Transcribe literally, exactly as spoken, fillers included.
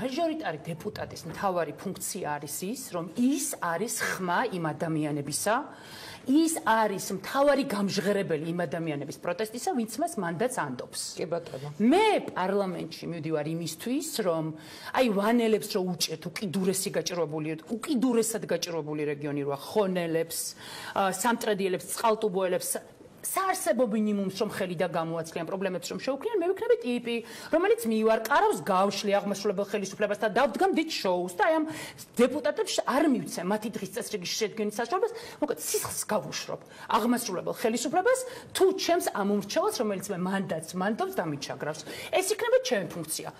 მაჟორიტარი დეპუტატის მთავარი ფუნქცია არის ის, რომ ის არის ხმა იმ ადამიანებისა, ის არის მთავარი გამჟღერებელი იმ ადამიანების პროტესტისა, ვინც მას მანდატს ანდობს. კი ბატონო. მე პარლამენტში მივდივარ იმისთვის, რომ აი ვანელებს რო უჭერთ უკიდურესი გაჭირვებული, უკიდურესად გაჭირვებული რეგიონი როა ხონელებს, სამტრედიელებს, წყალტუბოელებს საარსებო მინიმუმს რომ ხელი და გამოაცლიან პრობლემებს რომ შეუქმნიან, მე ვიქნები ტიპი, რომელიც მივარყარავს გავშლი აღმასრულებელ ხელისუფლებას და დავდგამ დიდ შოუს და აი ამ დეპუტატებს არ მივცემ მათი დღის წესრიგის შედგენის საშუალებას, მოკლედ სისხლს გავუშვებ აღმასრულებელ ხელისუფლებას თუ ჩემს ამ უმრჩეველს, რომელიც მე მანდატს მანდობს და მიჩაგრავს. ეს იქნება ჩემი ფუნქცია.